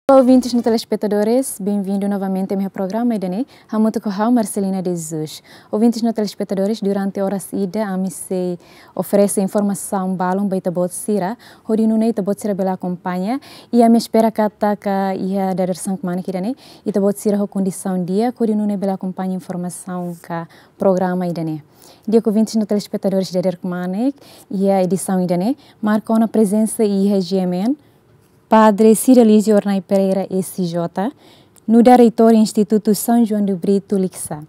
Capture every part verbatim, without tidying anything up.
Ouvintes no telespetadores, bem-vindo novamente ao meu programa ida-ne'e, hamutuk ho ha'u Marcelina de Jesus. Ouvintes no telespetadores, durante oras ida, ami sei oferese informasaun balun ba ita-boot sira, hodi nune'e ita-boot sira bele akompaña, i ami espera katak iha dadeer-saan kmanek ida-ne'e, ita-boot sira ho kondisaun di'ak, hodi nune'e bele akompaña informasaun ka programa ida-ne'e. Di'ak ouvintes no telespetadores, dadeer kmanek, iha edisaun ida-ne'e, marka ona prezensa iha G M N, Padre Cidalígio Hornai Pereira, S J, nu'udar reitór Institutu São João de Brito, Likisá.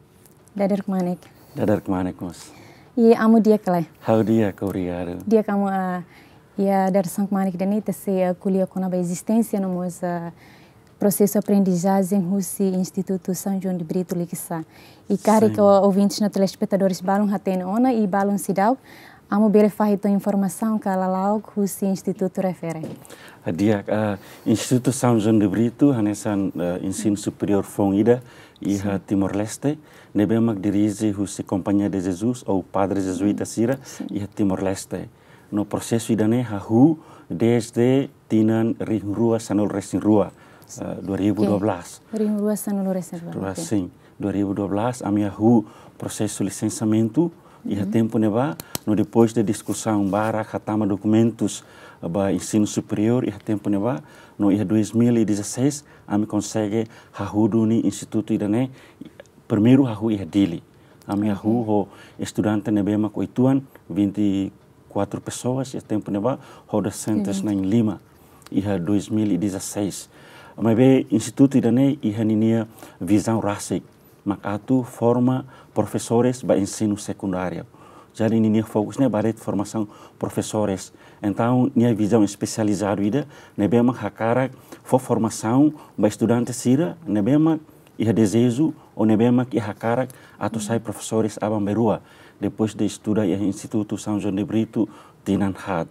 Dadeer kmanek. Dadeer kmanek mós. I amu di'ak ka lae? Ha'u di'ak, obrigadu. Di'ak, amu, ah, iha dadeer-saan kmanek ida-ne'e ita sei, ah, ko'alia kona-ba ezisténsia no mós, ah, prosesu aprendizajen husi Institutu São João de Brito, Likisá. I karik, sin, ouvintes no telespetadores balun hatene ona i balun seidauk, amu bele fahe uitoan informasaun ka lala'ok husi institutu refere? Ah, di'ak, ah, Institutu São João de Brito hanesan, ah, ensinu superiór foun ida iha, sin, Timor-Leste, ne'ebé mak dirije husi Companhia de Jesus ou padre jezuíta sira, sin, iha Timor-Leste. No prosesu ida-ne'e hahú desde tinan rihun rua sanulu resin rua, eh, dua ribu dua belas. Oke. Rihun rua sanulu resin rua, rua, oke, sin, dua ribu dua belas, ami hahú prosesu lisensamentu iha, mhm, tempu ne'ebá, no depois de diskusaun barak, hatama dokumentus ba ensinu superiór iha tempu ne'ebá, no iha dois mil e dezasseis, ami konsege hahú duni institutu ida-ne'e, primeiru hahú iha Dili. Ami, oke, hahú ho estudante ne'ebé mak oituan, vinte e quatro pessoas, iha tempu ne'ebá, ho dosentus, uhum, na'in-lima, iha dois mil e dezasseis. Maibé institutu ida-ne'e iha ninia vizaun rasik, mak atu forma profesores ba ensinu sekundáriu. Jadi ninia fokus ne'e ba de'it formasaun profesores. Entaun, nia vizaun espesializadu ida, ne'ebé mak hakarak fó formasaun ba estudante sira ne'ebé mak iha dezeju ou ne'ebé mak iha hakarak atu sai profesores aban-bainrua, depois de estuda iha Institutu São João de Brito tinan haat.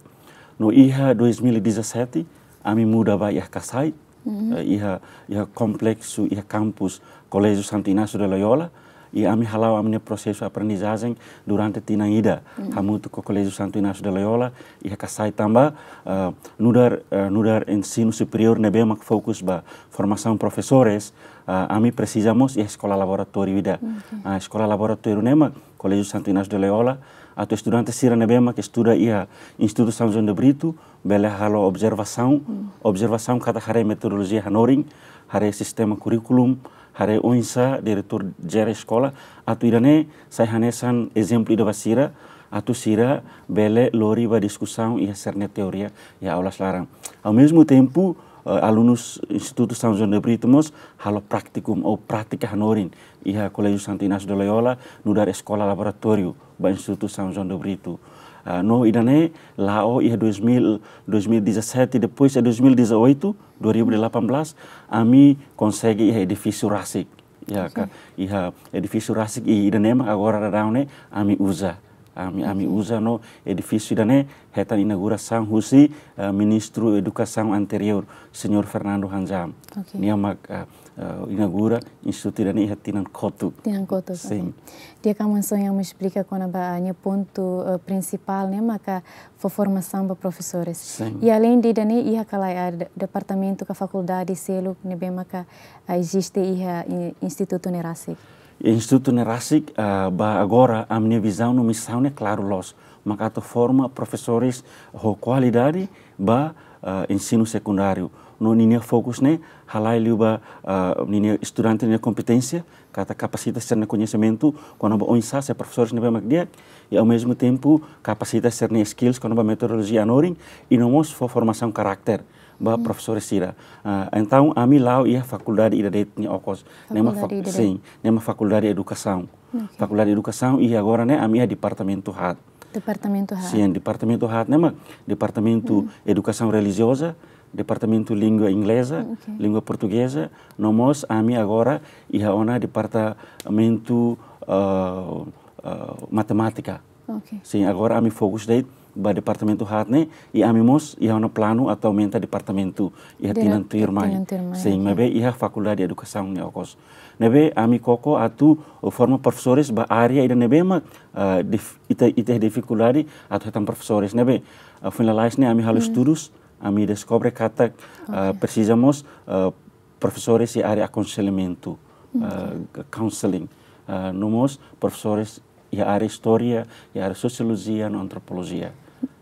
No iha dois mil e dezassete, ami muda ba iha Kasai, mhm, eh, iha, iha kompleksu, iha kampus Colégio Santo Inácio de Loyola, i ami hala'o ami-nia prosesu aprendizajen durante tinan ida, mhm, hamutuk ho Colégio Santo Inácio de Loyola, iha Kasai tanba, eh, nu'udar, eh, nu'udar ensinu superiór ne'ebé mak fokus ba formasaun profesores, ah, ami presiza mós iha eskola laboratóriu ida. Oke. Ah, eskola laboratóriu ne'e mak Colégio Santo Inácio de Loyola, atu estudante sira ne'ebé mak estuda iha Institutu São João de Brito, bele halo observasaun, hmm, observasaun katak haree metodolojia hanorin, haree sistema kurríkulu, haree oinsá diretór jere eskola, atu ida-ne'e sai hanesan ezemplu ida ba sira, atu sira bele lori ba diskusaun iha sira-nia teoria iha aulas laran. Ao mesmo tempo, eh, alunus Institutu São João de Brito mós halo praktikum ou prátika hanorin iha Colégio Santo Inácio de Loyola, nu'udar eskola laboratóriu ba Institutu São João de Brito. Ah, no ida-ne'e la'o iha dois mil, dois mil e dezassete, depois iha dois mil e dezoito, dua ribu delapan belas, ami konsege iha edifísiu rasik. Ya, oke, ka, iha edifísiu rasik i ida-ne'e mak agora daudaun ne'e ami uza. Ami, ami, oke, uza no edifísiu ida-ne'e hetan inaugurasaun husi, eh, Ministru Edukasaun anteriór, Señór Fernando Hanjam. Oke. Nia mak, eh, eh, inaugura institutu ida-ne'e iha tinan kotuk. Tinan kotuk, sin, oke. Di'ak, amu hanesan imi esplika kona-ba, ah, nia pontu, eh, prinsipál ne'e maka fó formasaun ba profesores. Sin. I aleinde ida-ne'e, iha ka lae, ah, de-, departamentu ka fakuldade seluk ne'ebé maka, ah, eziste iha i-, institutu ne'e rasik? Institutu ne'e rasik, ah, ba agora, ami-nia vizaun no misaun ne'e klaru loos. Mak atu forma profesores ho kualidade ba, ah, ensinu sekundáriu. No ninia fokus ne'e halai liu ba, ah, ninia estudante nia kompeténsia, katak kapasita sira-nia koñesimentu kona-ba oinsá sai profesores ne'ebé mak di'ak, i ao mesmo tempo kapasita sira-nia skills kona-ba metodolojia hanorin, i no mós fó formasaun karakter ba, hmm, profesores sira. Ah, entaun, ami la'o iha fakuldade ida de'it nia okos. Ne'e mak fak-, fakuldade ida de'it, sin, ne'e mak Fakuldade Edukasaun. Oke. Fakuldade Edukasaun, i agora ne'e ami iha departamentu haat. Departamentu haat. Sin, departamentu haat ne'e mak Departamentu, hmm, Edukasaun Relijioza, Departamentu Língua Ingleza, oke, Língua Portugeza, no mós ami agora iha ona departamentu, eh, eh, Matemátika. Oke. Sin, agora ami fokus de'it ba departamentu haat ne'e, i ami mós iha ona planu atu aumenta departamentu iha, dire-, tinan tuirmai. Tinan tuirmai, sin, oke, maibé iha Fakuldade Edukasaun nia okos. Ne'ebé ami koko atu forma profesores ba área ida ne'ebé mak, ah, dif-, ita, ita difikuldade atu hetan profesores. Ne'ebé, ah, foin lalais ne'e ami halo, hmm, estudus, Ami deskobre katak, ah, presiza mós, ah, profesores iha área akonselhamentu, ah, counseling, ah, no mós profesores iha área istória, iha área sosiolojia no antropolojia.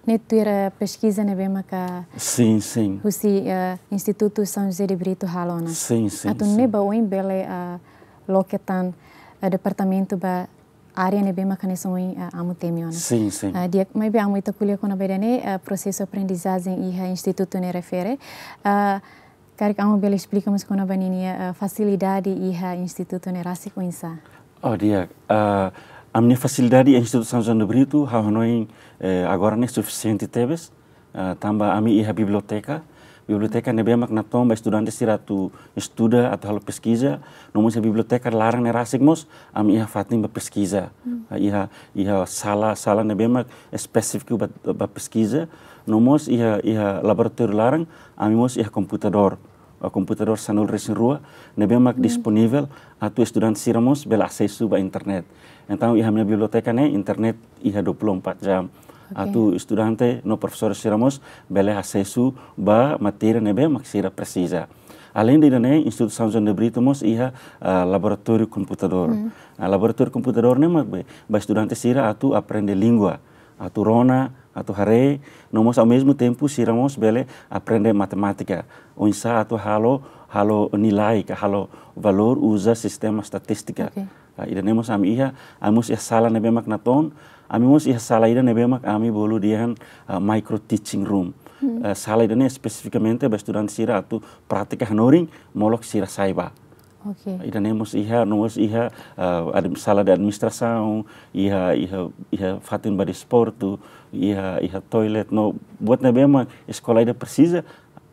Ne'e tuir peskiza ne'ebé maka, sin, sin, husi, eh, Institutu São José de Brito halo ona. Sin, sin, atu sin. Ne'e ba oin bele, eh, loke tan, eh, departamentu ba área ne'ebé maka hanesan ohin, eh, amu temi ona. Sin, sin. Eh, di'ak, maibé amu ita ko'alia kona-ba ida-ne'e, eh, prosesu aprendizajen iha institutu ne'e refere. Eh, karik amu bele esplika mós kona-ba ninia, eh, fasilidade iha institutu ne'e rasik oinsá? Oh, di'ak. Ah, ami-nia fasilidade iha Institutu São João de Brito, ha'u hanoin, eh, agora ne'e sufisiente tebes. Ah, tanba ami iha biblioteka. Biblioteka ne'ebé mak natoon ba estudante sira atu estuda, atu halo peskiza. No mós iha biblioteka laran ne'e rasik mós, ami iha fatin ba peskiza. Hmm. Ah, iha, iha sala, sala ne'ebé mak espesífiku ba, ba peskiza. No mós iha, iha laboratóriu laran, ami mós iha komputadór. Ah, komputadór sanulu-resin-rua, ne'ebé mak disponivel atu estudante sira mós bele asesu ba internet. Entaun, iha ami-nia biblioteka ne'e, internet iha dua puluh empat jam. Oke. Atu estudante no profesór sira mós bele asesu ba matéria ne'ebé mak sira presiza. Além de ida-ne'e, Institutu São João de Brito mós iha, ah, laboratóriu komputadór. Hmm. Ah, laboratóriu komputadór ne'e mak be, ba estudante sira atu aprende língua, atu rona, atu haree, no mós ao mesmo tempo sira mós bele aprende matemátika. Oinsá atu halo, halo nilai ka halo valór uza sistema estatístika. Oke. Ah, ida-ne'e mós ami iha, ami mós iha sala ne'ebé mak natoon, ami mós iha sala ida ne'ebé mak ami bolu dehan, ah, micro teaching room. Hmm. Ah, sala ida-ne'e espesifikamente ba estudante sira atu prátika hanorin, molok sira sai ba. Oke. Ida-ne'e mós iha, no mós iha, ah, admi-, sala de administrasaun, iha, iha, iha fatin ba desportu, iha, iha toilet, no buat ne'ebé mak eskola ida presiza,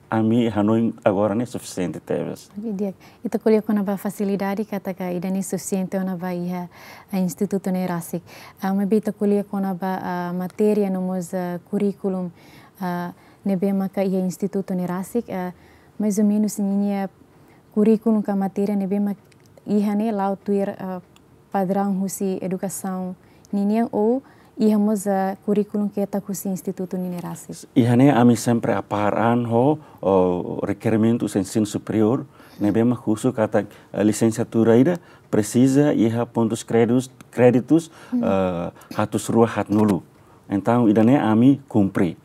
ami hanoin agora ne'e sufisiente tebes. Oke, di'ak. Ita ko'alia kona-ba fasilidade katak ida-ne'e sufisiente ona ba iha, ah, institutu ne'e rasik. Ah, maibé ita ko'alia kona-ba, ah, matéria no mós, ah, kurríkulu, ah, ne'ebé maka iha institutu ne'e rasik, ah, mais ou menus ninia kurríkulu ka matéria ne'ebé mak iha ne'e la'o tuir, eh, padraun husi edukasaun ninian ou iha mós, eh, kurríkulu ketak husi institutu ninia rasik? Iha ne'e ami sempre apár an ho, o, rekerimentu ensinu superiór, ne'ebé mak husu katak, eh, lisensiatura ida presiza iha pontus kréditus, kréditus, eh, hatus rua haatnulu. Entaun, ida-ne'e ami kumpre.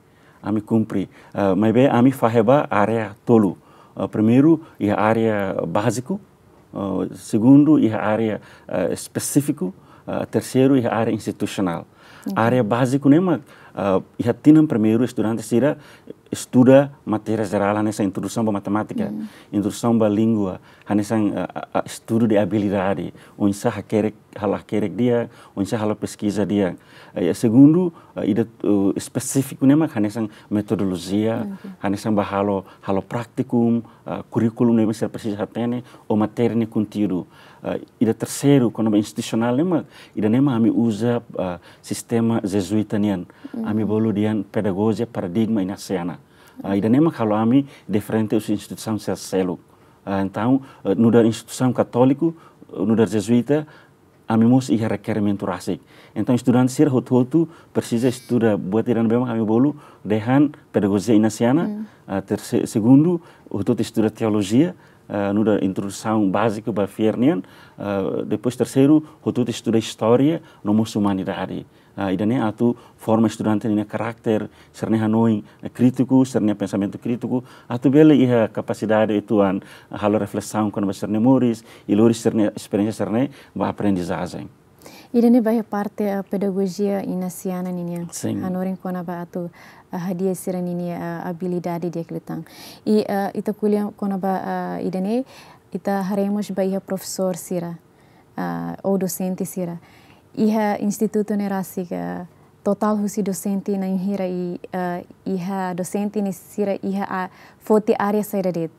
Ami kumpre. Eh, maibé ami fahe ba área tolu. Eh, primeiru, iha área báziku. Eh, segundu, iha área, eh, espesífiku. Eh, terseiru, iha área institusionál. Oke. Área báziku ne'e mak, eh, iha tinan primeiru estudante sira estuda matéria jerál hanesan introdusaun ba matemátika, introdusaun ba língua, hanesan, eh, eh, eh, estudu de abilidade, oinsá hakerek, halo hakerek di'ak, oinsá halo peskiza di'ak. Eh, segundu, eh, ida, eh, espesífiku ne'e mak hanesan metodolojia, oke, hanesan ba halo, halo praktikum, eh, kurríkulu ne'ebé sira presiza hatene, ou matéria nia konteúdu. Eh, ida terseiru, kona-ba institusionál ne'e mak, ida-ne'e mak ami uza, eh, sistema jezuíta nian. Ami bolu dehan pedagojia paradigma inasiana. Eh, ida-ne'e mak halo ami diferente husi instituisaun sira seluk. Ah, entaun, eh, nu'udar instituisaun katóliku, eh, nu'udar jezuíta, ami mós iha rekerimentu rasik. Entaun, estudante sira hotu-hotu presiza estuda buat ida ne'ebé mak ami bolu dehan pedagojia inasiana, ah, terse-, segundu, hotu-hotu estuda teolojia, ah, nu'udar introdusaun báziku ba fiar nian, ah, depois terseiru, hotu-hotu estuda istória, no mós umanidade. Ah, ida-ne'e atu forma estudante ninia karakter, sira-nia hanoin, eh, krítiku, sira-nia pensamentu krítiku, atu bele iha kapasidade uitoan, ah, halo reflesaun kona-ba sira-nia moris, i lori sira-nia esperiénsia sira-ne'e ba aprendizajen. Ida-ne'e ba iha parte, eh, pedagojia inasiana ninian. Sin. Hanorin kona-ba atu, eh, hadi'a sira-ninia, eh, abilidade di'ak liután. I, eh, ita ko'alia kona-ba, eh, ida-ne'e, ita haree mós ba iha profesór sira, ah, ou dosente sira. Iha institutu ne'e rasik, ah, totál husi dosente na'in hira i, ah, iha dosente ne'e sira iha, ah, foti área saida de'it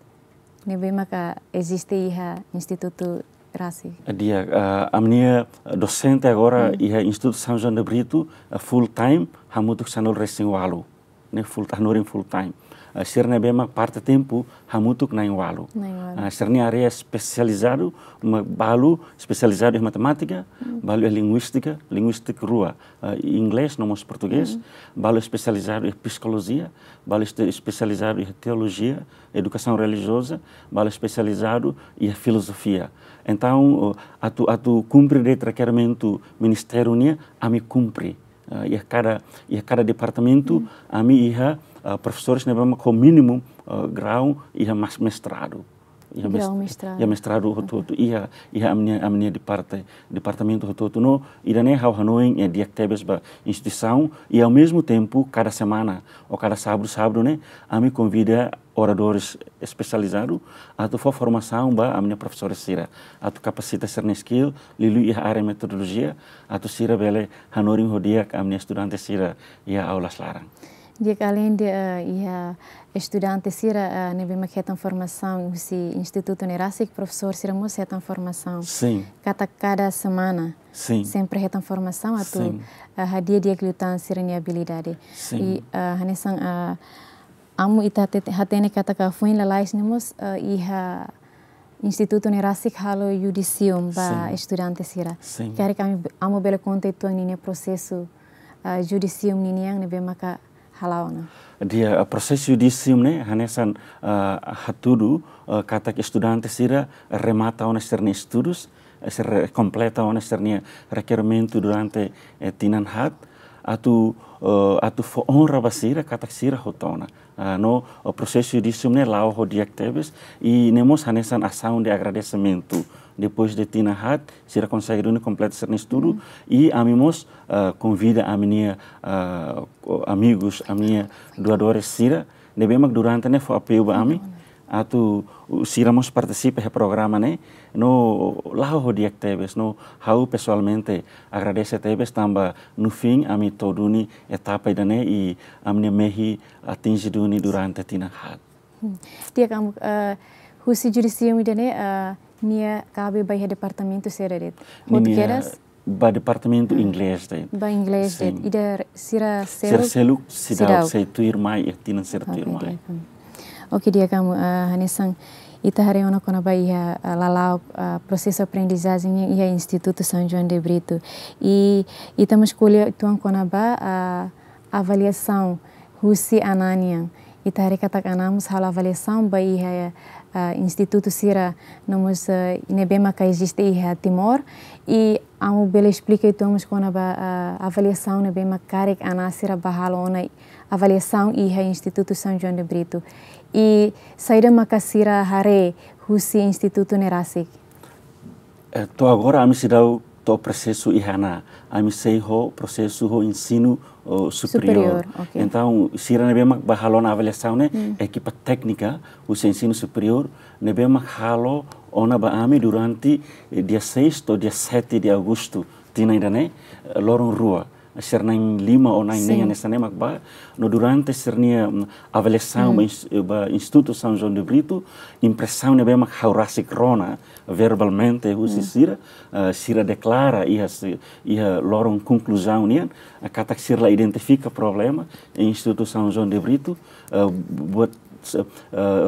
ne'ebé maka eziste iha institutu rasik? Di'ak, ah, ami-nia dosente agora iha Institutu São João de Brito, ah, full time, hamutuk sanulu-resin-ualu. Ne'e full, hanorin full time. Ah, sira ne'ebé mak parte tempu hamutuk na'in-ualu. Na'in-ualu. Ah, sira-nia área espesializadu, ma-, balu espesializadu iha matemátika, balu iha linguístika, linguístika rua, ah, inglés no mós portugés, balu espesializadu iha psikolojia, balu este-, espesializadu iha teolojia, edukasaun relijioza, balu espesializadu iha filozofia. Entaun, oh, atu, atu kumpre de'it rekerimentu ministériu nian, ami kumpre. Ah, iha kada, iha kada departamentu, ami iha, ah, profesores ne'ebé mak ho mínimu, ah, grau iha mas-, mestradu. Iha mes-, Grau mestradu. Iha mestradu hotu-hotu, iha, iha ami-nia, ami-nia departe-, departamentu hotu-hotu. No, ida-ne'e ha'u hanoin, eh, di'ak tebes ba instituisaun, i ao mesmo tempo, kada semana, ou kada sábadu, sábadu ne'e, ami konvida oradores espesializadu atu fó formasaun ba ami-nia profesores sira, atu kapasita sira-nia skill, liuliu iha área metodolojia, atu sira bele hanorin ho di'ak ami-nia estudante sira iha aulas laran. Di'ak, aleinde, eh, iha estudante sira, eh, ne'ebé mak hetan formasaun husi institutu ne'e rasik, profesór sira mós hetan formasaun. Sin. Katak kada semana. Sin. Sempre hetan formasaun atu, Sin. eh, hadi'a di'ak liután sira-nia abilidade. Sin. I, eh, hanesan, eh, amu ita hate-, hatene katak foin lalais ne'e mós, eh, iha institutu ne'e rasik halo judisium ba Sin. estudante sira. Sin. Karik ami, amu bele konta uitoan ninia prosesu, eh, judisium ninian ne'ebé maka hala'o ona. Di'ak, eh, prosesu judisium ne'e hanesan, eh, hatudu, eh, katak estudante sira remata ona sira-nia estudus, eh, sira kompleta ona sira-nia rekerimentu durante, eh, tinan haat, atu, eh, atu fó onra ba sira katak sira hotu ona. Ah, no, eh, prosesu judisium ne'e la'o ho di'ak tebes, i ne'e mós hanesan asaun de agradesimentu. Depois de tinan haat, sira konsege duni kompleta sira-nia estudu, i ami mós, eh, konvida ami-nia, eh, ko-, amigos, ami-nia doadores sira, ne'ebé mak durante ne'e fó apoiu ba ami, atu, uh, sira mós partisipa iha programa ne'e, no la'o ho di'ak tebes, no ha'u pesoalmente agradese tebes tanba no fim ami to'o duni etapa ida-ne'e i ami-nia mehi atinje duni durante tinan haat. Hmm. Di'ak, amu, eh, husi judisium ida-ne'e, eh, nia kabe ba iha departamentu saida de'it? Hotu Ninia kedas? Ba departamentu Ah. inglés de'it. Ba inglés Sin. de'it. Ida sira Sira seluk? seluk seidauk, Seidauk. sei tuirmai, eh, tinan sira Oke, tuirmai. di'ak, amu. Oke, di'ak, amu, eh, hanesan ita haree ona kona-ba iha, eh, lala'ok, eh, prosesu aprendizajen iha Institutu São João de Brito. I ita mós ko'alia uitoan kona-ba, eh, avaliasaun husi Ananian. Ita haree katak Ana mós halo avaliasaun ba iha, eh, institutu sira no mós, eh, ne'ebé maka eziste iha Timor. I amu bele esplika uitoan mós kona-ba, eh, avaliasaun ne'ebé mak karik Ana sira bá halo ona avaliasaun iha Institutu São João de Brito. I saida maka sira haree husi institutu ne'e rasik? Eh, to'o agora ami seidauk to'o prosesu iha Ana, ami sei ho prosesu ho ensinu, oh, superiór. Superiór, oke. Entaun, sira ne'ebé mak bá halo ona avaliasaun ne'e, Hmm. ekipa téknika husi ensinu superiór, ne'ebé mak halo ona ba ami durante, eh, dia seis to'o dia sete de agosto, tinan ida-ne'e, eh, loron rua. Sira na'in-lima ou na'in-neen Sin. hanesan ne'e mak bá, no durante sira-nia, mm, avaliasaun Hmm. ba ins-, ba Institutu São João de Brito, impresaun ne'ebé mak ha'u rasik rona verbalmente husi Hmm. sira, eh, sira deklara iha si-, iha loron konkluzaun nian, eh, katak sira la identifika problema iha Institutu São João de Brito, eh, buat, eh,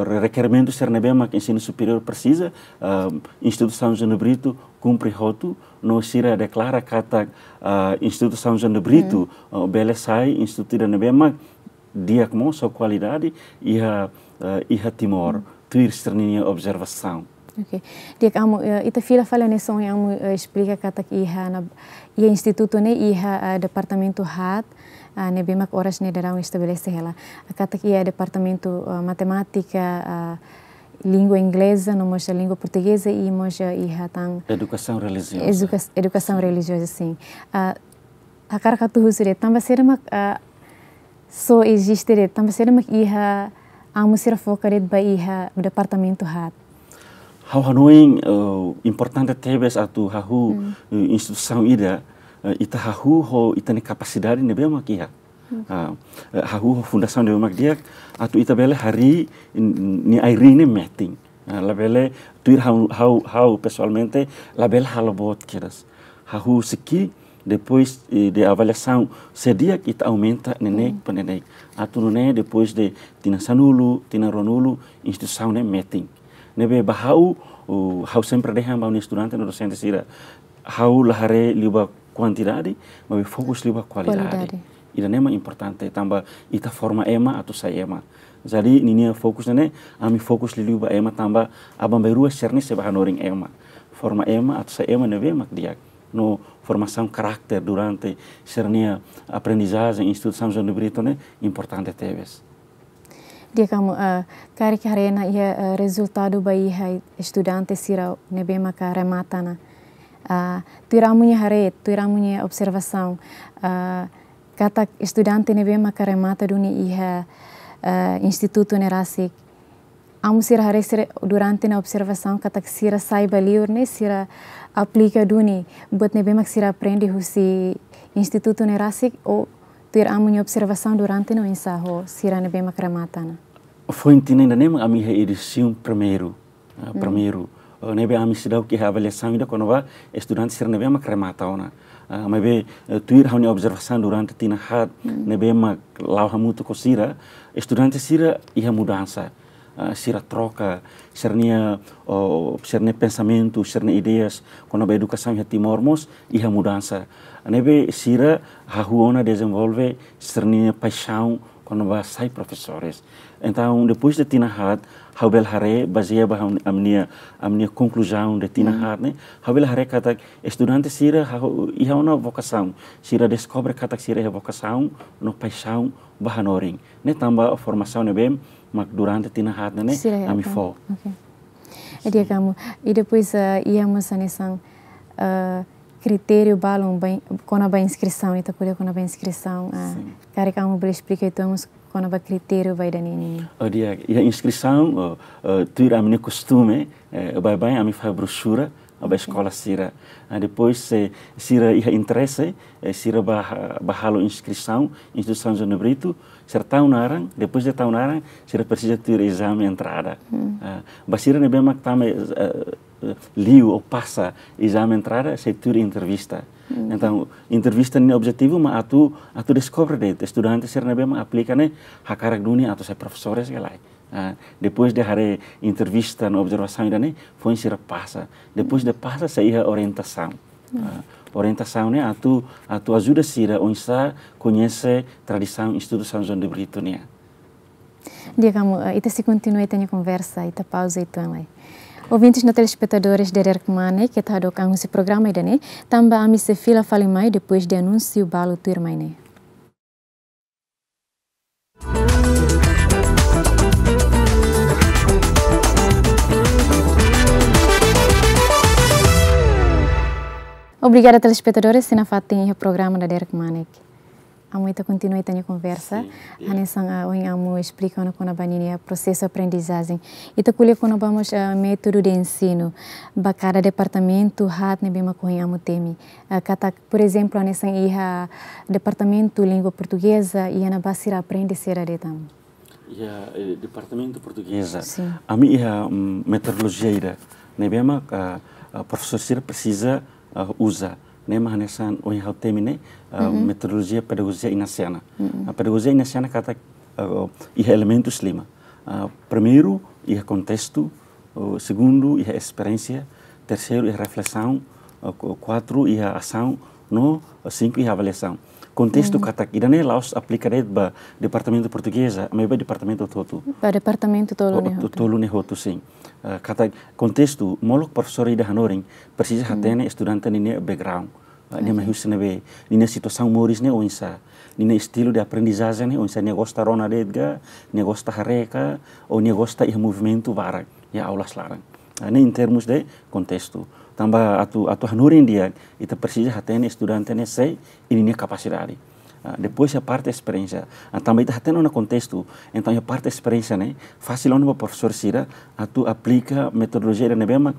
re-, rekerimentu sira ne'ebé mak ensinu superiór presiza, eh, Institutu São João de Brito kumpre hotu, no sira deklara katak, ah, Institutu São João de Brito, Hmm. ah, bele sai institutu ida ne'ebé mak di'ak mós ho kualidade iha, ah, iha Timor, Hmm. tuir sira-nia observasaun. Oke. Di'ak, amu, eh, ita fila fali hanesan ohin amu, eh, esplika katak iha Ana, iha institutu ne'e iha, eh, departamentu haat, ah, ne'ebé mak oras ne'e daudaun estabelese hela. Katak iha departamentu, eh, matemátika, ah, língua ingleza, no mós língua portugeza i mós iha tan Edukasaun relijioza. eduka-, edukasaun Sin. relijioza, sin. Ah, hakarak atu husu de'it, tanba saida mak, ah, só eziste de'it, tanba saida mak iha amu sira foka de'it ba iha departamentu haat? Ha'u hanoin, eh, importante tebes atu hahú, Hmm. eh, instituisaun ida, eh, ita hahú ho ita-nia kapasidade ne'ebé mak iha. Hmm. Ah, eh, hahú ho fundasaun ne'ebé mak di'ak, atu ita bele harii n-, nia ai-riin ne'e metin. Ah, labele tuir ha'u, ha'u, ha'u pesoalmente, labele halo boot kedas. Hahú husi ki'ik, Depois, eh, de avaliasaun, se di'ak ita aumenta neineik, hmm, ba neineik. Atu nune'e depois de tinan sanulu, tinan ruanulu, instituisaun ne'e metin. Ne'ebé ba ha'u, uh, ha'u sempre dehan ba ha'u-nia estudante no dosente sira, ha'u la haree liu ba kuantidade, maibé fokus liu ba kualidade. Kualidade. Ida-ne'e mak importante, tanba ita forma ema atu sai ema. Jadi, ninia fokus ne'e, ami fokus liu ba ema tanba aban-bainrua sira-ne'e sei bá hanorin ema. Forma ema atu sai ema ne'ebé mak di'ak. No formasaun karakter durante sira-nia aprendizajen iha Institutu São João de Brito ne'e importante tebes. Di'ak, Amu, eh, karik haree ona iha, eh, rezultadu ba iha estudante sira ne'ebé maka remata ona. Ah, tuir Amu nia haree, tuir Amu nia observasaun, ah, katak estudante ne'ebé maka remata duni iha, eh, institutu ne'e rasik. Amu sira haree sira durante ona observasaun katak sira sai ba liur ne'e sira aplika duni buat ne'ebé mak sira aprende husi institutu ne'e rasik, ou tuir Amu nia observasaun durante ona oinsá ho sira ne'ebé mak remata ona? Foin tinan ida-ne'e mak ami iha edisaun primeiru. Ah, hmm, primeiru. Eh, ne'ebé ami seidauk iha avaliasaun ida kona-ba estudante sira ne'ebé mak remata ona. Ah, maibé, eh, tuir ha'u-nia observasaun durante tinan haat, hmm, ne'ebé mak la'o hamutuk ho sira, estudante sira iha mudansa. Ah, sira troka, sira-nia, oh, sira-nia pensamentu, sira-nia ideias kona-ba edukasaun iha Timor mós iha mudansa. Ne'ebé sira hahú ona dezenvolve sira-nia paixaun kona-ba sai profesores. Entaun, depois de tinan haat, ha'u bele haree, bazeia ba ha'u, ami-nia, ami-nia konkluzaun de tinan, hmm, haat ne'e, ha'u bele haree katak estudante sira hahú, iha ona vokasaun, sira deskobre katak sira iha vokasaun no paixaun ba hanorin. Ne'e tanba formasaun ne'ebé mak durante tinan haat ne'e, ne'e, sira iha, ami, oke, fó. Oke. Di'ak, Amu. I depois, eh, iha mós hanesan, eh, kritériu balun ba in-, kona-ba inskrisaun, ita ko'alia kona-ba inskrisaun, ah, sin, karik Amu bele esplika uitoan mós kona-ba kritériu ba ida-ne'e nian. Oh, di'ak, iha inskrisaun, oh, eh, tuir ami-nia kostume, eh, baibain ami fahe broxura ba, oke, eskola sira. Ah, depois, se sira iha interese, eh, sira bá ha-, bá halo inskrisaun, Institutu São João de Brito, sira tau naran, depois de tau naran, sira presiza tuir ezame entrada. Hmm. Ah, ba sira ne'ebé mak tama, eh, eh, liu ou pasa ezame entrada, sei tuir entrevista. Hmm. Entaun, entrevista nia objetivu mak atu, atu deskobre de'it estudante sira ne'ebé mak aplika ne'e hakarak duni atu sai profesores ka lae. Ah, depois de haree entrevista no observasaun ida-ne'e, foin sira pasa. Depois de pasa, sei iha orientasaun. Hmm. Ah, orientasaun ne'e atu, atu ajuda sira oinsá koñese tradisaun Institutu São João de Brito nian. Di'ak, Amu, eh, ita sei kontinua ita-nia konversa, ita pauza uitoan lai. Ouvintes no telespetadores Dadeer Kmanek, keta hadook an husi programa ida-ne'e, tanba ami sei fila fali mai depois de anúnsiu balu tuirmai ne'e. Obrigada, telespetadores, sira nafatin iha programa Dadeer Kmanek. Amu, ita kontinua ita-nia konversa. Sin, di'ak. Hanesan, ah, ohin Amu esplika ona kona-ba ninia prosesu aprendizajen. Ita ko'alia kona-ba mós, ah, métodu de ensinu. Ba kada departamentu haat ne'ebé mak ohin Amu temi. Ah, katak, por ezemplu, hanesan iha departamentu língua portugeza, iha ne'ebá sira aprende saida de'it, Amu? Iha, eh, departamentu portugeza. Sin. Ami iha, mm, metodolojia ida ne'ebé mak, ah, ah, profesór sira presiza, ah, uza. Ne'e mak hanesan ohin ha'u temi ne'e, ah, mm-mm, metodolojia pedagojia inasiana. Mm-mm. Ah, pedagojia inasiana katak, ah, iha elementus lima. Ah, primeiru, iha kontestu, ah, segundu, iha esperiénsia, terseiru, iha reflesaun, ah, ku-, kuatru, iha asaun, no, ah, sinku, iha avaliasaun. Kontestu, mm, katak ida-ne'e la'ós aplika de'it ba departamentu portugeza, maibé ba departamentu hotu-hotu. Ba departamentu tolu, oh, ne'e to-, hotu. Tolu ne'e hotu, sin. Ah, katak kontestu, molok profesór ida hanorin, presiza, mm, hatene estudante ninia background. Ah, nia, oke, mai husi ne'ebé, ninia situasaun moris ne'e oinsá, ninia estilu de aprendizajen ne'e oinsá, nia gosta rona de'it ka, nia gosta haree ka, ou nia gosta iha movimentu barak iha aulas laran. Ah, ne'e em termos de kontestu. Tanba atu, atu hanorin di'ak, ita presiza hatene estudante ne'e sé i ninia kapasidade. Ah, depois iha parte esperiénsia. Ah, tanba ita hatene ona kontestu, entaun iha parte esperiénsia ne'e fasil ona ba profesór sira atu aplika metodolojia ida ne'ebé mak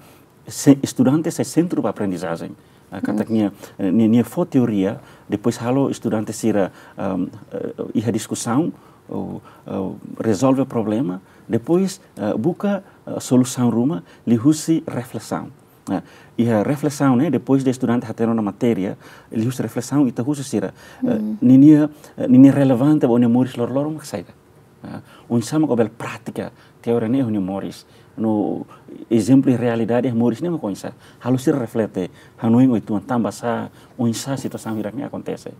se-, estudante sai sentru ba aprendizajen. Ah, katak, mm, nia, eh, nia, nia fó teoria, depois halo estudante sira, ahm, eh, iha diskusaun, ou, ou rezolve problema, depois, eh, buka, eh, solusaun ruma liuhusi reflesaun. Nah, iha reflesaun ne'e, depois de estudante hatene ona matéria, liuhusi reflesaun ita husu sira, eh, ninia, eh, ninia relevante ba ó-nia moris loroloron mak saida. Ah, oinsá mak ó bele pratika teoria ne'e iha ó-nia moris. No ezemplu realidade iha moris ne'e mak oinsá. Halo sira reflete, hanoin oituan tanba sá, oinsá situasaun hirak ne'e akontese.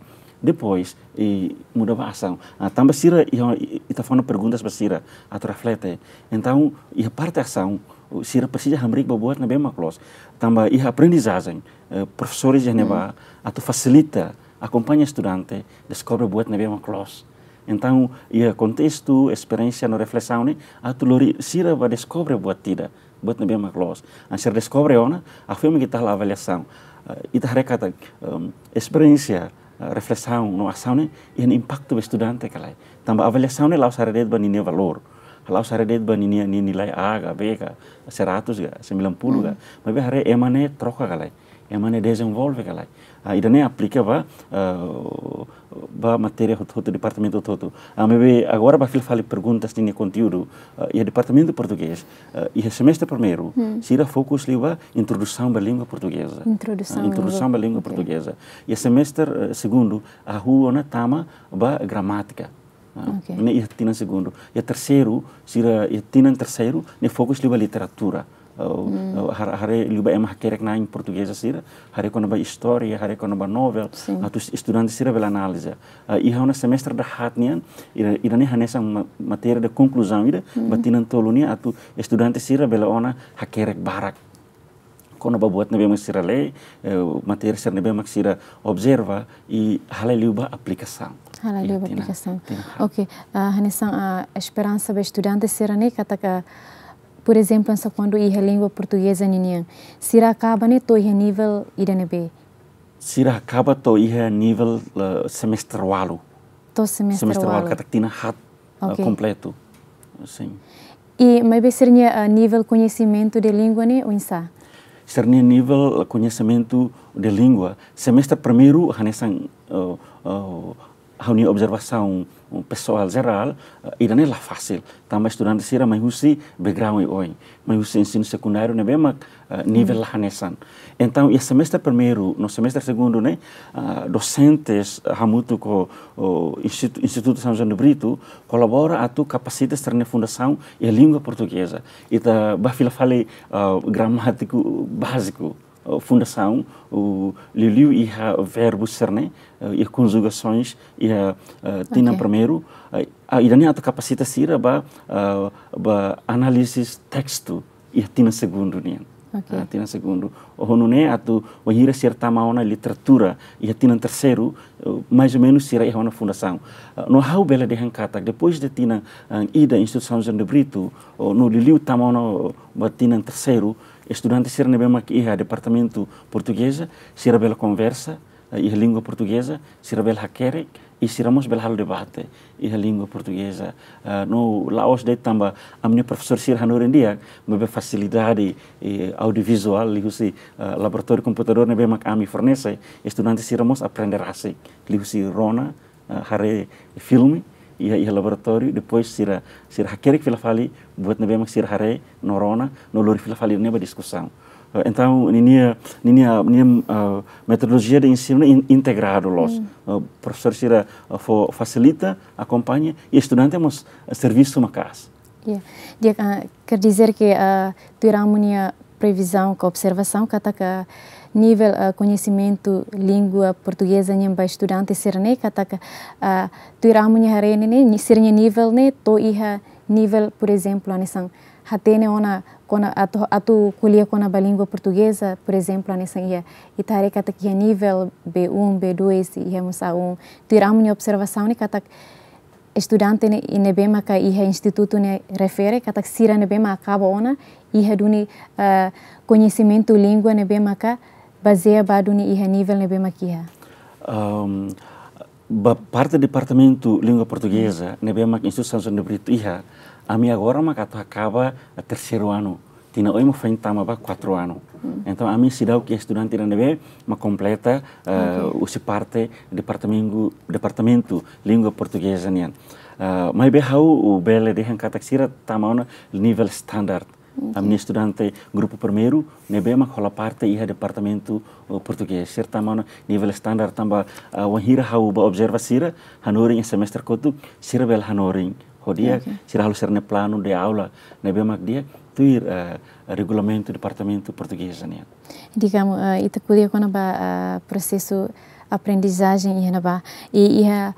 Depois, i muda ba asaun. Ah, tanba sira, i, i, ita fó ona perguntas ba sira, atu reflete. Entaun, iha parte asaun, sira presiza hamriik ba buat ne'ebé mak loos. Tanba iha aprendizajen, eh, profesores iha ne'ebá, atu fasilita, akompaña estudante, deskobre buat ne'ebé mak loos. Entaun, iha kontestu, esperiénsia no reflesaun ne'e, atu lori sira ba deskobre buat ida, buat ne'ebé mak loos. Hanesan sira deskobre ona, afirma ke ita halo avaliasaun. Eh, ita haree katak, em, esperiénsia, eh, reflesaun no asaun ne'e, iha nia impaktu ba estudante ka lae. Tanba avaliasaun ne'e la'ós haree de'it ba ninia valór. La'ós haree de'it ba ninia, ninia nilai A ka, B ka, seratus ka, sembilan puluh ka. Maibé haree ema ne'e troka ka lae. Ema ne'e dezenvolve ka lae. Ah, ida-ne'e aplika ba, eh, ba matéria hotu-hotu, departamentu hotu-hotu. Ah, maibé agora ba fila fali perguntas ninia konteúdu, eh, iha departamentu portugés, eh, iha semestre primeiru, sira fokus liu ba introdusaun ba língua portugeza. Introdusaun Ah, introdusaun ba língua, língua oke. portugeza. Iha semestre, eh, segundu, hahú ona tama ba gramátika. Ah, Oke. ne'e iha tinan segundu. Iha terseiru, sira iha tinan terseiru, ne'e fokus liu ba literatura. Oh, oh, har-, haree liu ba ema hakerek-na'in portugeza sira, haree kona-ba istória, haree kona-ba novel, Sin. atu es-, estudante sira bele analiza. Ah, iha ona semestre dahaat nian, ida, ida-ne'e hanesan ma-, matéria de konkluzaun ida, ba tinan tolu nian atu estudante sira bele ona hakerek barak kona-ba buat ne'ebé mak sira lee, eh, matéria sira ne'ebé mak sira observa, i halai liu ba aplikasaun. Halai liu ba Iha tinan, aplikasaun. tinan haat. Oke, ah, hanesan, ah, esperansa ba estudante sira ne'e katak, por ezemplu, hanesan kuandu iha língua portugeza ninian, sira akaba ne'e to'o iha nivel ida ne'ebé? Sira akaba to'o iha nivel, eh, semestre ualu. To'o semestre Semestre ualu ualu. katak tinan haat, eh, Oke. kompletu. Sin. I maibé sira-nia, eh, nivel koñesimentu de língua ne'e oinsá? Sira-nia nivel koñesimentu de língua. Semestre primeiru hanesan, eh, eh, ha'u-nia observasaun pesoál jerál, eh, ida-ne'e la fasil. Tanba estudante sira mai husi background oioin. Mai husi ensinu sekundáriu ne'ebé mak, eh, nivel la hanesan. Entaun, iha semestre primeiru no semestre segundu ne'e, ah, dosentes, ah, hamutuk ho, ho Institu-, Institutu São João de Brito kolabora atu kapasita sira-nia fundasaun iha língua portugeza. Ita ba fila fali, ah, gramátiku báziku, ah, fundasaun, o liuliu iha verbu sira-ne'e, ah, iha konjugasoens, iha, ah, tinan Oke. primeiru, ah, ah, ida-ne'e atu kapasita sira ba, ah, ba análise testu, iha tinan segundu nian. Oke. Ah, tinan segundu. Ho nune'e atu wainhira sira tama ona literatura, iha tinan terseiru, eh, mais ou menus sira iha ona fundasaun. Ah, no ha'u bele dehan katak, depois de tinan, ah, ida Institutu São João de Brito, oh, no liuliu tama ona, oh, ba tinan terseiru, estudante sira ne'ebé mak iha departamentu portugeza, sira bele konversa, eh, iha língua portugeza, sira bele hakerek, i sira mós bele halo debate iha língua portugeza. Ah, no la'ós de'it tanba ami-nia profesór sira hanorin di'ak, maibé fasilidade, eh, audiovisuál, liuhusi, ah, laboratóriu komputadór ne'ebé mak ami fornese, estudante sira mós aprende rasik, liuhusi rona, ah, haree filme, iha, iha laboratóriu, depois sira, sira hakerek fila fali buat ne'ebé mak sira haree no rona, no lori fila fali ne'e ba diskusaun. Eh, entaun, ninia, ninia, ninia, eh, metodolojia de ensinu in-, integradu loos. Eh, profesór sira, eh, fó, fasilita, akompaña, i estudante mós, eh, servisu maka'as. Ya, di'ak, ah, quer dizer que, ah, tuir amu-nia previzaun ka observasaun katak nivel, ah, koñesimentu língua portugeza nian ba estudante sira-ne'e katak, ah, tuir amu-nia haree ne'e, ni-, sira-nia nivel ne'e to'o iha nivel, por ezemplu, hanesan hatene ona kona-, atu, atu ko'alia kona-ba língua portugeza, por ezemplu, hanesan iha, ita haree katak iha nivel B um, B dois, iha mós A um. Tuir amu-nia observasaun ne'e katak estudante ne'e, i ne'ebé maka iha institutu ne'e refere, katak sira ne'ebé mak akaba ona, iha duni, eh, koñesimentu língua ne'ebé maka bazeia ba duni iha nivel ne'ebé mak iha. Ahm, ba parte departamentu língua portugeza, ne'ebé mak Institutu São João de Brito iha, ami agora mak atu akaba terseiru anu. Tinan oin mak foin tama ba kuatru anu. Hmm. Entaun, ami seidauk iha estudante ida ne'ebé mak kompleta, eh, Oke. husi parte departamentu, departamentu língua portugeza nian. Eh, maibé ha'u bele dehan katak sira tama ona nivel standar. Ami-nia estudante grupu primeiru ne'ebé mak hola parte iha departamentu, eh, portugés. Sira tama ona nivel standar tanba, ah, wainhira ha'u bá observa sira, hanorin iha semestre kotuk, sira bele hanorin ho di'ak, sira halo sira-nia planu de aula ne'ebé mak di'ak, tuir, eh, regulamentu departamentu portugés nian. Di'ak, Amu, eh, ita ko'alia kona-ba, eh, prosesu aprendizajen iha ne'ebá. I iha,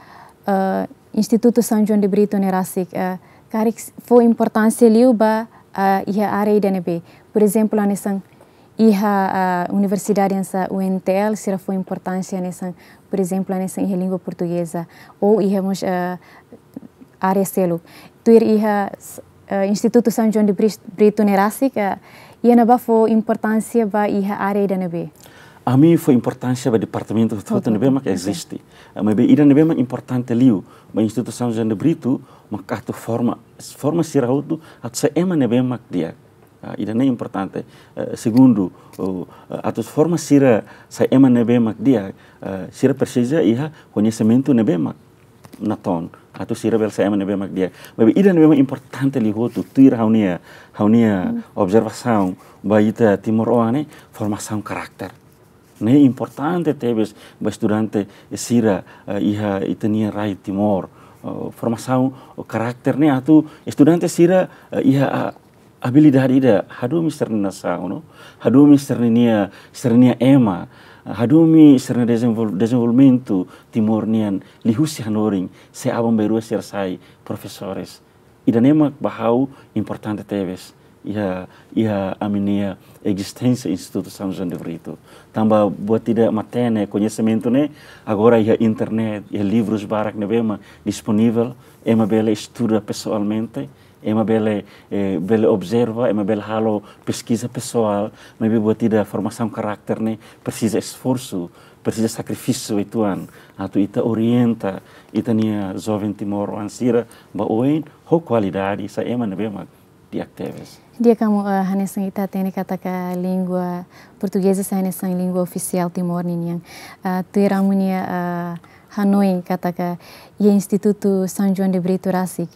eh, Institutu São João de Brito ne'e rasik, eh, karik fó importánsia liu ba, eh, iha área ida ne'ebé. Por ezemplu, hanesan iha, eh, universidade hanesan U N T L, sira fó importánsia hanesan, por ezemplu, hanesan iha língua portugeza. Ou iha mós, eh, área seluk. Tuir iha, eh, Institutu São João de Bris-, Brito ne'e rasik, iha ne'ebá fó importánsia ba iha área ida ne'ebé? Ami fó importánsia ba departamentu hotu-hotu ne'ebé mak eziste. Eh, maibé ida ne'ebé mak importante liu ba Institutu São João de Brito, mak atu forma, forma sira hotu, atu sai ema ne'ebé mak di'ak. Ah, ida-ne'e importante. Eh, segundu, oh, eh, atu forma sira sai ema ne'ebé mak di'ak, eh, sira presiza iha koñesimentu ne'ebé mak natoon, atu sira bele sai ema ne'ebé mak di'ak. Maibé ida ne'ebé mak importante liu hotu, tuir ha'u-nia, ha'u-nia observasaun ba ita timoroan ne'e, formasaun karakter. Ne'e importante tebes ba estudante sira, eh, iha ita-nia rai Timor. Eh, formasaun karakter ne'e atu estudante sira, eh, iha, ah, abilidade ida hadomi sira-nia nasaun, no? Hadomi sira-nia, sira-nia ema, hadomi sira-nia dezenvol-, dezenvolvimentu Timor nian liuhusi hanorin, se aban-bainrua sira sai profesores. Ida-ne'e mak ba ha'u importante tebes iha, iha ami-nia ezisténsia Institutu São João de Brito. Tanba buat ida matenek, koñesimentu ne'e agora iha internet, iha livrus barak ne'ebé mak disponivel, ema bele estuda pesoalmente, ema bele, eh, bele observa, ema bele halo peskiza pesoál, maibé buat ida formasaun karakter ne'e presiza esforsu, presiza sakrifísiu uitoan, atu ita orienta ita-nia joven timoroan sira ba oin ho kualidade, sai ema ne'ebé mak di'ak tebes. Di'ak, Amu, eh, hanesan ita hatene katak língua portugeza sai hanesan língua ofisiál Timor ninian. Eh, tuir Amu-nia, eh, hanoin katak iha Institutu São João de Brito rasik,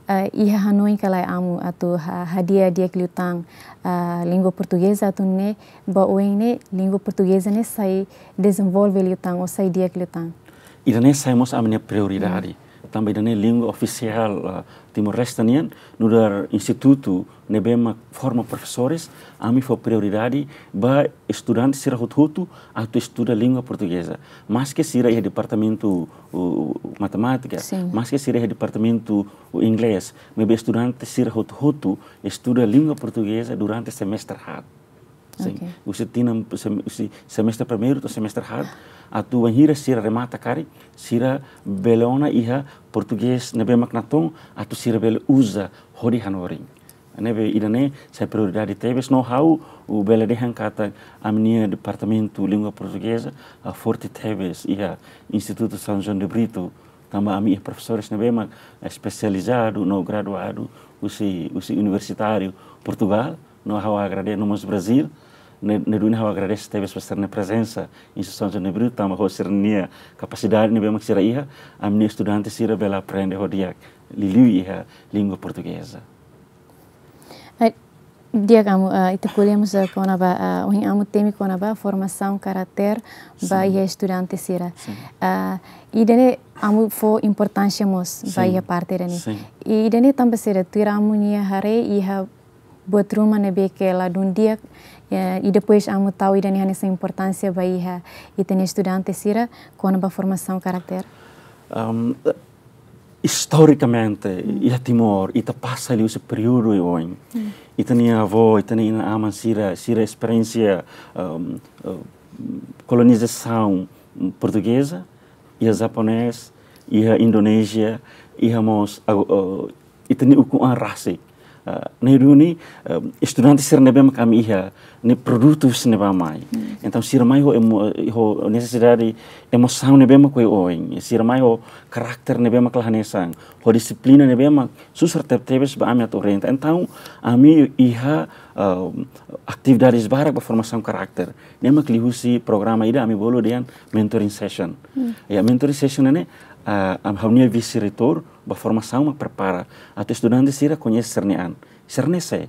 eh, iha hanoin ka lae Amu atu ha-, hadi'a di'ak liután, eh, língua portugeza atu nune'e ba oin ne'e língua portugeza ne'e sai dezenvolve liután ou sai di'ak liután? Ida-ne'e sai mós ami-nia prioridade. Tanba ida-ne'e língua ofisiál, ah, Timor-Leste nian, nu'udar institutu ne'ebé mak forma profesores, ami fó prioridade ba estudante sira hotu-hotu atu estuda língua portugeza. Maske sira iha departamentu, uh, matemátika, maske sira iha departamentu, uh, inglés, maibé estudante sira hotu-hotu estuda língua portugeza durante semestre haat. Sin. Husi tinan sem-, husi semestre primeiru to'o semestre haat, atu wainhira sira remata karik, sira bele ona iha portugés ne'ebé mak natoon, atu sira bele uza hodi hanorin. Ne'ebé ida-ne'e sai prioridade tebes, no ha'u bele dehan katak ami-nia departamentu língua portugeza, ah, forte tebes iha Institutu São João de Brito, tanba ami iha profesores ne'ebé mak espesializadu no graduadu husi, husi universitáriu Portugál, no ha'u agradese, no mós Brazíl, ne'e, ne'e duni ha'u agradese tebes ba sira-nia prezensa iha Institutu São João de Brito, tanba ho sira-nia kapasidade ne'ebé mak sira iha, ami-nia estudante sira bele aprende ho di'ak liuliu iha língua portugeza. Eh, di'ak Amu, eh, ita ko'alia mós, eh, kona-ba, eh, ohin Amu temi kona-ba formasaun karakter ba iha estudante sira. Sin. Eh, ida-ne'e Amu fó importánsia mós ba iha parte ida-ne'e. Sin. I ida-ne'e tanba sira, tuir Amu-nia haree iha buat ruma ne'ebé ke ladún di'ak, eh, i depois Amu tau ida-ne'e hanesan importánsia ba iha ita-nia estudante sira kona-ba formasaun karakter? Am, istorikamente, iha Timor, ita pasa liu husi períodu oioin. Ita-nia avó, ita-nia inan-aman sira, sira esperiénsia, um, uh, kolonizasaun portugeza, iha japonés, iha Indonézia, iha mós, uh, uh, ita-nia ukun-an rasik. Ah, ne'e duni, eh, estudante sira ne'ebé mak ami iha, ne'e produtu sira ne'ebá mai. Entaun, sira mai ho emo-, ho nesesidade, emosaun ne'ebé mak oioin. Sira mai ho karakter ne'ebé mak la hanesan, ho dixiplina ne'ebé mak susar tebetebes ba ami atu orienta. Entaun, ami iha, ah, atividades barak ba formasaun karakter. Ne'e mak liuhusi programa ida ami bolu dehan mentoring session. Ya, mentoring session ne'e, ah, am-, ha'u-nia vise-reitór ba formasaun mak prepara atu estudante sira koñese sira-nia an. Sira ne'e sé?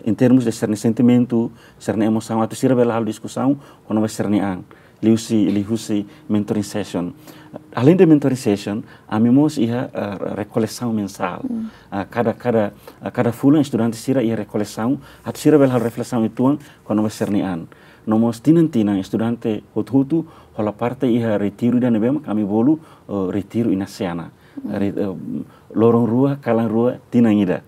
em termos de sira-nia sentimentu, sira-nia emosaun, atu sira bele halo diskusaun kona-ba sira-nia an, liuhusi, liuhusi mentoring session. Além de mentoring session, ami mós iha, eh, rekolesaun mensál. Ah, kada, kada, ah, kada fulan estudante sira iha rekolesaun, atu sira bele halo reflesaun uitoan kona-ba sira-nia an. No mós tinan-tinan estudante hotu-hotu hola parte iha retiru ida ne'ebé mak ami bolu, eh, retiru Inasiana. Re-, eh, loron rua, kalan rua, tinan ida.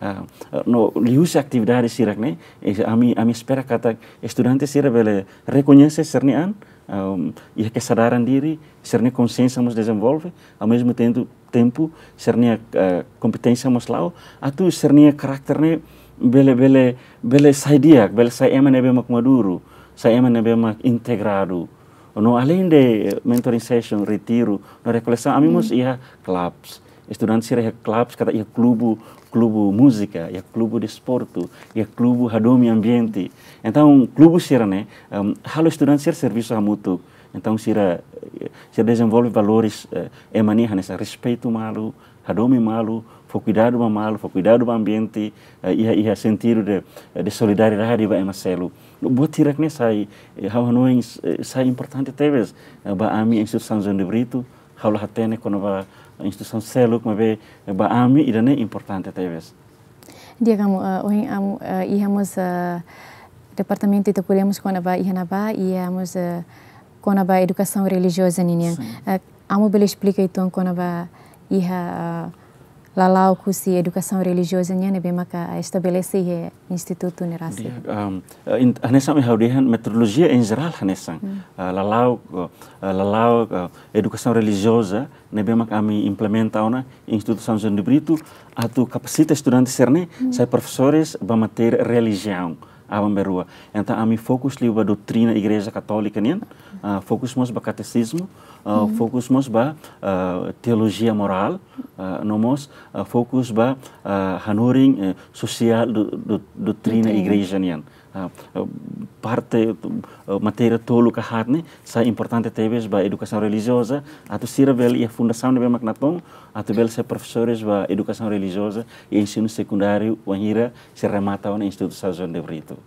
Ah, eh, no liuhusi atividade sira-ne'e, eh, ami, ami espera katak estudante sira bele rekoñese sira-nia an, ehm, iha kesadaran diri, sira-nia konxiénsia mós dezenvolve, ao mesmo tempo, tempu, sira-nia, eh, kompeténsia mós la'o, atu sira-nia karakter ne'e bele, bele, bele sai di'ak, bele sai ema ne'ebé mak maduru, sai ema ne'ebé mak integradu. No além de mentoring session, retiru, no rekolesaun, ami mós iha clubs. Estudante sira iha clubs, katak iha klubu, klubu múzika, iha klubu desportu, iha klubu hadomi ambiente. Entaun, klubu sira-ne'e, em, halo estudante sira servisu hamutuk. Entaun, sira, eh, sira dezenvolve valores, eh, ema nia hanesan respeitu malu, hadomi malu, fó kuidadu ba malu, fó kuidadu ba ambiente, eh, iha, iha sentidu de, eh, de solidariedade ba ema seluk. Buat hirak-ne'e sai, eh, ha'u hanoin, eh, sai importante tebes, eh, ba ami Institutu São João de Brito, ha'u la hatene kona-ba instituisaun seluk, maibé, eh, ba ami ida-ne'e importante tebes. Di'ak, Amu, eh, ohin Amu, eh, iha mós, eh, departamentu ita ko'alia mós kona-ba iha ne'ebá, iha mós, eh, kona-ba edukasaun relijioza ninian. Sin. Eh, Amu bele esplika uitoan kona-ba iha, eh, lala'ok husi edukasaun relijioza nian ne'ebé maka estabelese iha institutu ne'e rasik? Di'ak, em, eh, in-, hanesan ami ha'u dehan metodolojia em geral hanesan. Hmm. Eh, lala'ok, eh, lala'ok, eh, edukasaun relijioza ne'ebé mak ami implementa ona Institutu São João de Brito, atu kapasita estudante sira-ne'e sai profesores ba matéria relijiaun, aban-bainrua. Entaun ami fokus liu ba doutrina Igreja Katólika nian, ah, fokus mós ba katesizmu, ah, fokus mós ba, ah, teolojia morál, ah, no mós, ah, fokus ba, ah, hanorin, eh, sosiál do, do, doutrina Doutrina. Igreja nian. Ah, eh, parte, eh, matéria tolu ka haat ne'e sai importante tebes ba edukasaun relijioza, atu sira bele iha fundasaun ne'ebé mak natoon, atu bele sai profesores ba edukasaun relijioza i ensinu sekundáriu wainhira sira remata ona Institutu São João de Brito.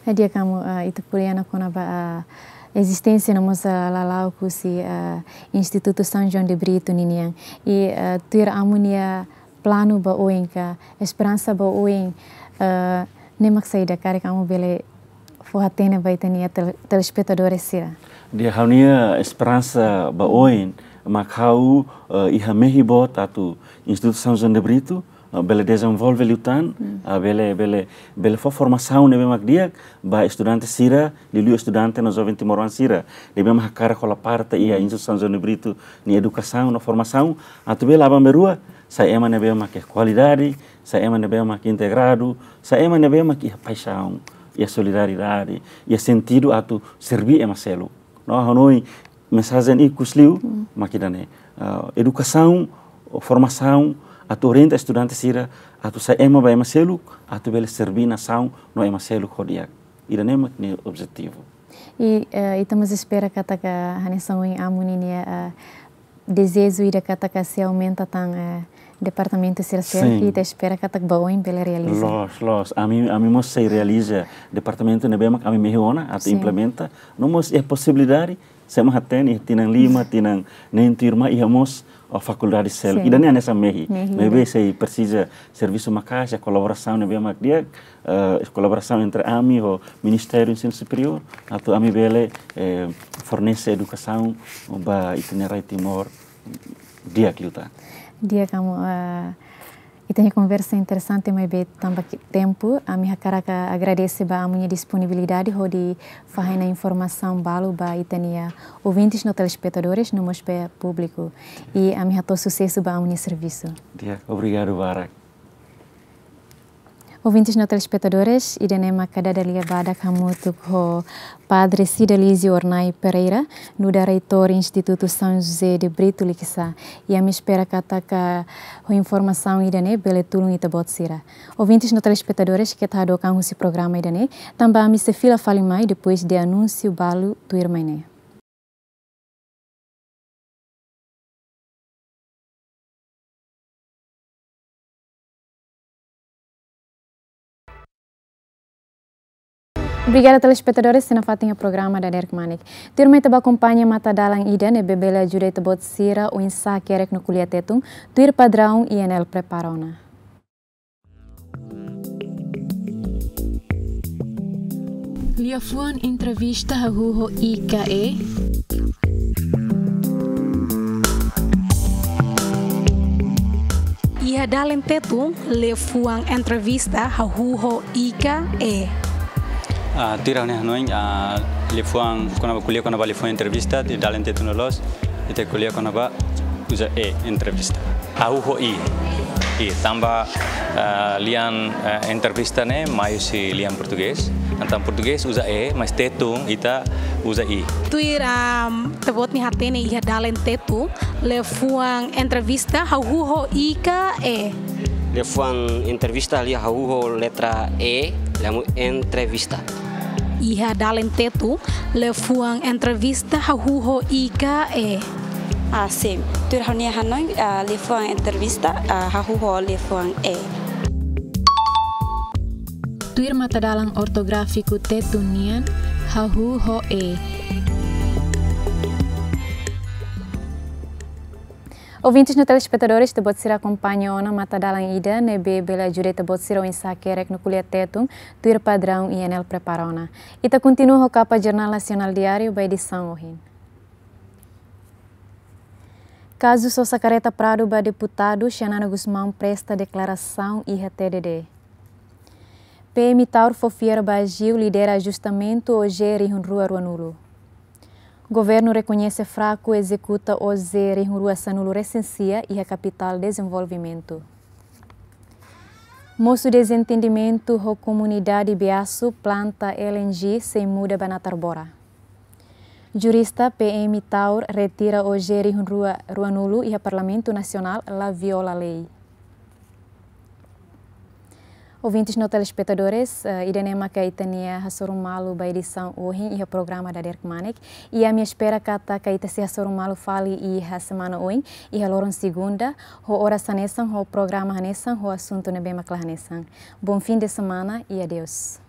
Eh, di'ak, Amu, eh, ita ko'alia ona kona-ba, eh, ezisténsia no mós, eh, lala'ok husi, eh, Institutu São João de Brito ninian. I, eh, tuir Amu nia planu ba oin ka esperansa ba oin, eh, ne'e mak saida, karik Amu bele fó-hatene ba ita-nia tel-, telespetadores sira? Di'ak, ha'u-nia esperansa ba oin mak ha'u, eh, iha mehi boot atu Institutu São João de Brito, eh, bele dezenvolve liután, ah, bele, bele, bele fó formasaun ne'ebé mak di'ak ba estudante sira, liuliu estudante no joven timoroan sira ne'ebé mak hakarak hola parte iha Institutu São João de Brito nia edukasaun no formasaun, atu bele aban-bainrua sai ema ne'ebé mak iha kualidade, sai ema ne'ebé mak integradu, sai ema ne'ebé mak iha paixaun, iha solidariedade, iha sentidu atu serbí ema seluk. No, ha'u hanoin mensajen ikus liu mak ida-ne'e. Ah, edukasaun, formasaun, atu orienta estudante sira, atu sai ema ba ema seluk, atu bele serbí nasaun no ema seluk ho di'ak. Ida-ne'e mak nia objetivu. I, eh, ita mós espera katak hanesan ohin Amu ninia, eh, dezeju ida katak sei aumenta tan, eh, departamentu sira seluk, Sin. Ita espera katak ba oin bele realiza. Loos, loos. Ami, ami mós sei realiza departamentu ne'ebé mak ami mehi ona atu Sin. Implementa. No mós iha posibilidade, se ema hatene, tinan lima, tinan neen tuirmai, iha mós, oh, fakuldade seluk. Sin. Ida-ne'e hanesan mehi. Mehi, Maibé ida. Sei presiza servisu maka'as, kolaborasaun ne'ebé mak di'ak, eh, kolaborasaun entre ami ho Ministériu Ensinu Superiór, atu ami bele, eh, fornese edukasaun ba ita-nia rai Timor di'ak liután. Di'ak, Amu, eh, ita-nia konversa interesante, maibé tanba ke-, tempu, ami hakarak agradese ba Amu nia disponibilidade hodi fahe ona informasaun balu ba ita-nia ouvintes no telespetadores, no mós ba públiku. I ami hato'o susesu ba Amu nia servisu. Di'ak, obrigadu barak. Ouvintes no telespetadores, ida-ne'e maka dada lia badak hamutuk ho Padre Cidalizio Hornai Pereira, nu'udar reitór Institutu São José de Brito Likisá. I ami espera katak ho informasaun ida-ne'e bele tulun ita-boot sira. Ouvintes no telespetadores, keta hadook an husi programa ida-ne'e, tanba ami sei fila fali mai depois de anúnsiu balu tuirmai ne'e. Obrigada, telespetadores, sira nafatin iha programa Dader Kmanek. Tuirmai ita bá akompaña matadalan ida ne'ebé bele ajuda ita-boot sira oinsá hakerek no ko'alia Tetun, tuir padraun I N L prepara ona. Liafuan entrevista hahú ho i ka e? Iha dalen Tetun, liafuan entrevista hahú ho i ka e? Ah, tuir ha'u-nia hanoin, ah, liafuan kona-ba, ko'alia kona-ba liafuan entrevista, iha dalen Tetun loloos, ita ko'alia kona-ba uza e, entrevista. Hahú ho i. I, tanba, ah, lian, ah, entrevista ne'e mai husi lian portugés. Entaun portugés uza e, mas Tetun ita uza i. Tuir, am, ita-boot nia hatene iha dalen Tetun, liafuan entrevista hahú ho i ka e? Liafuan entrevista lia hahú ho letra e, liafuan entrevista. Iha dalen Tetun, liafuan entrevista hahú ho i ka e? Ah, sin. Tuir ha'u-nia hanoin, ah, liafuan entrevista, ah, hahú ho liafuan e. Tuir matadalan ortográfiku Tetun nian, hahú ho e. Ouvintes no telespetadores, ita-boot sira akompaña ona matadalan ida ne'ebé bele ajuda ita-boot sira oinsá hakerek no ko'alia Tetun, tuir padraun I N L prepara ona. Ita kontinua ho kapa Jornál Nasionál Diáriu ba edisaun ohin. Kazu sosa kareta Prado ba deputadu, Xanana Gusmão presta deklarasaun iha T D D. P M Taur fó fiar ba AGU lidera ajustamentu O G rihun rua ruanulu. Governu rekoñese fraku ezekuta O G rihun rua sanulu resin sia iha kapitál dezenvolvimentu. Mosu dezentendimentu ho komunidade Beaçu planta L N G sei muda ba natar bora. Jurista P M Taur retira O G rihun rua ruanulu iha Parlamentu Nasionál la viola lei. Ouvintes no telespetadores, eh, ida-ne'e maka ita-nia hasoru malu ba edisaun ohin iha programa Dader Kmanek. I ami espera katak ita sei hasoru malu fali iha semana oin, iha loron segunda, ho oras hanesan, ho programa hanesan, ho asuntu ne'ebé mak la hanesan. Bom fim de semana e adeus.